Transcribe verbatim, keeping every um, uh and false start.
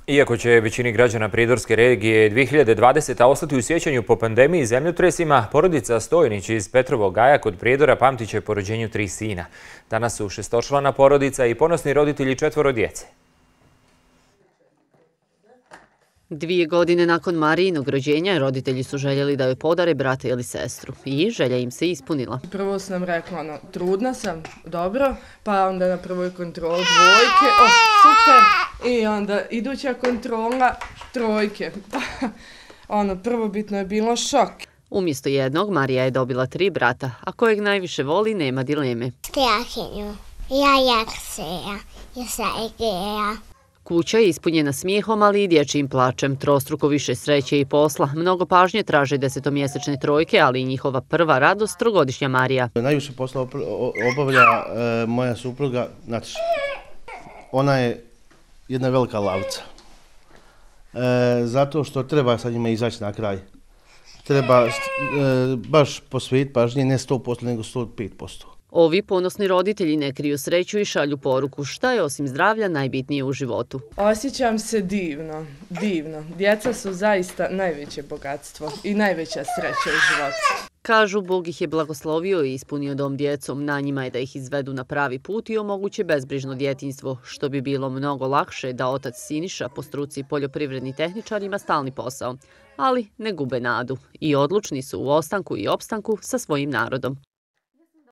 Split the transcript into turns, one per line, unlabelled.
Iako će većini građana Pridorske regije dvije hiljade dvadeseta. ostati u sjećanju po pandemiji i zemljotresima, porodica Stojnić iz Petrovog Gaja kod Prijedora pamtit će po rođenju tri sina. Danas su šestočlana porodica i ponosni roditelji četvoro djece.
Dvije godine nakon Marijinog rođenja roditelji su željeli da joj podare brata ili sestru i želja im se ispunila.
Prvo sam rekla, ono, trudna sam, dobro, pa onda na prvoj kontroli dvojke, o, super, i onda iduća kontrola trojke. Ono, prvobitno je bilo šok.
Umjesto jednog, Marija je dobila tri brata, a kojeg najviše voli nema dileme.
Strahinju, ja Jakseja, ja Saigeja.
Kuća je ispunjena smijehom, ali i dječjim plačem, trostruko više sreće i posla. Mnogo pažnje traže desetomjesečne trojke, ali i njihova prva radost, trogodišnja Marija.
Najviše posla obavlja e, moja supruga Nataša. Ona je jedna velika lavca. E, zato što treba sa njima izaći na kraj. Treba e, baš posvetiti pažnje, ne sto posto nego sto pet posto.
Ovi ponosni roditelji ne kriju sreću i šalju poruku šta je osim zdravlja najbitnije u životu.
Osjećam se divno, divno. Djeca su zaista najveće bogatstvo i najveća sreća u životu.
Kažu, Bog ih je blagoslovio i ispunio dom djecom. Na njima je da ih izvedu na pravi put i omoguće bezbrižno djetinjstvo, što bi bilo mnogo lakše da otac Siniša, po struci poljoprivredni tehničar, ima stalni posao. Ali ne gube nadu i odlučni su u ostanku i opstanku sa svojim narodom.